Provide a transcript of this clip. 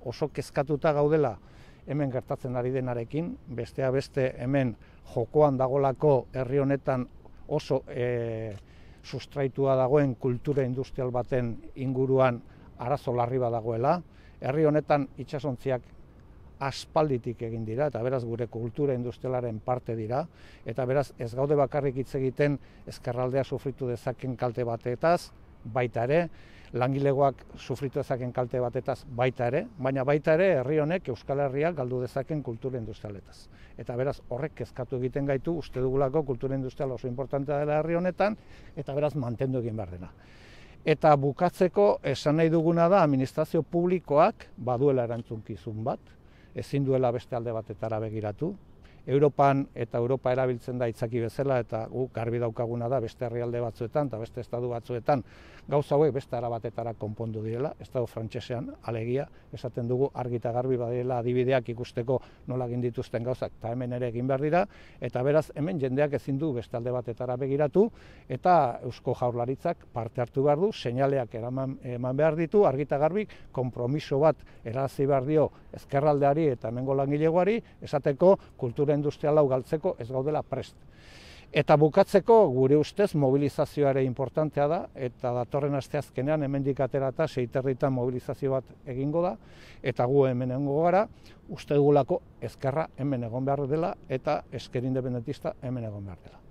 Oso kezkatuta gaudela hemen gertatzen ari denarekin, besteak beste hemen jokoan dagolako herri honetan oso sustraitua dagoen kultura industrial baten inguruan arazo larri bat dagoela. Herri honetan itsasontziak aspalditik egin dira, eta beraz gure kultura industrialaren parte dira, eta beraz ez gaude bakarrik hitz egiten ezkerraldea sufritu dezaken kalte batetaz, baita ere, langilegoak sufritu dezaken kalte batetaz baita ere, baina baita ere herri honek Euskal Herriak galdu dezaken kultura industrialetaz. Eta beraz horrek kezkatu egiten gaitu, uste dugulako kultura industrial oso importantea dela herri honetan, eta beraz mantendu egin behar dena. Eta bukatzeko esan nahi duguna da administrazio publikoak baduela erantzunkizun bat, ezin duela beste alde batetara begiratu. Europan eta Europa erabiltzen da itzaki bezala, eta guk garbi daukaguna da beste herrialde batzuetan eta beste estatu batzuetan gauza hauek beste era batetara konpondu direla. Estatu frantsesean alegia esaten dugu argi eta garbi badirela adibideak ikusteko nola egin dituzten gauzak, eta hemen ere egin behar dira, eta beraz hemen jendeak ezin du beste alde batetara begiratu, eta Eusko Jaurlaritzak parte hartu behar du, seinaleak eman behar ditu, argi eta garbi konpromiso bat erarazi behar dio ezkerraldeari eta hemengo langilegoari, esateko kultura industrial hau galtzeko ez gaudela prest. Eta bukatzeko gure ustez mobilizazioa importantea da, eta datorren asteazkenean hemendik aterata 6:30 mobilizazio bat egingo da, eta gu hemen egongo gara, uste dugulako ezkerra hemen egon behar dela eta ezker independentista hemen egon behar dela.